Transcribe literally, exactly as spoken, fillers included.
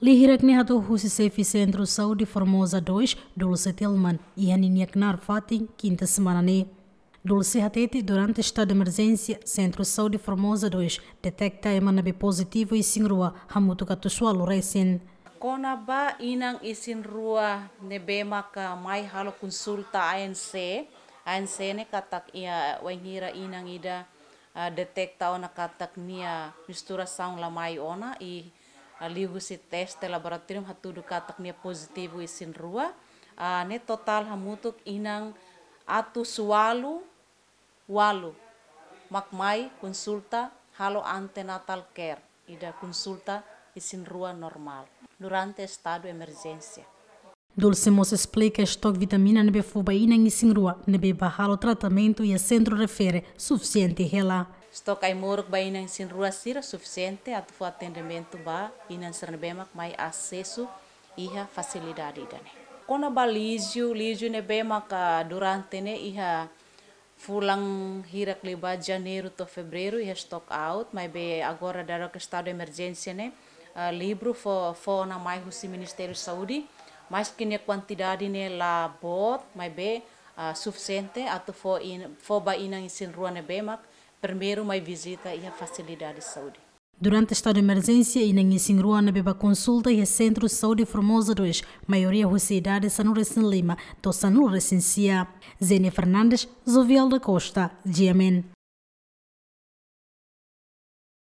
Lia hirak ne'e hato'o husi xefe Sentru Saúde Formosa dois, Dulce Tilman, iha ninia knaar fatin, kinta semana ne'e. Dulce hatete durante estadu de emerjénsia, Sentru Saúde Formosa dois deteta ema ne'ebé pozitivu isin-rua hamutuk atus ualu resin. Kona-ba inan isin-rua ne'ebé maka mai halo konsulta A N C, A N C ne'e katak iha wainhira inan ida, ah, deteta ona katak nia menstruasaun la mai ona i, ah, liuhusi teste laboratóriu hatudu katak nia pozitivu isin-rua, ah, ne'e totál hamutuk inan atus ualu ualu mak mai konsulta halo antenatal care, ida konsulta isin-rua normál, durante estadu emerjénsia. Dulce mós esplika estoke vitamina ne'ebé fó ba inan isin-rua ne'ebé bá halo tratamentu iha sentru refere sufisiente hela. Estoke ai-moruk ba inan isin-rua sira sufisiente atu fó atendimentu ba inan sira ne'ebé mak mai asesu iha fasilidade ida-ne'e. Kona-ba líjiu, líjiu ne'ebé maka durante ne'e iha fulan hirak liubá, Janeiru to'o Fevereiru, iha stock out, maibé agora daudaun estadu emerjénsia ne'e, ah, livre fó, fó ona mai husi Ministériu Saúde, maski nia kuantidade ne'e la boot, maibé, ah, sufisiente atu fó in-, fó ba inan isin-rua ne'ebé mak primeiru mai vizita iha fasilidade saúde. Durante estadu de emerjénsia, inan isin-rua ne'ebé bá konsulta iha Sentru Saúde Formosa dois, maioria husi idade sanulu-resin-lima to'o sanulu-resin-sia. Zenia Fernandes, Jovial da Costa, G M N.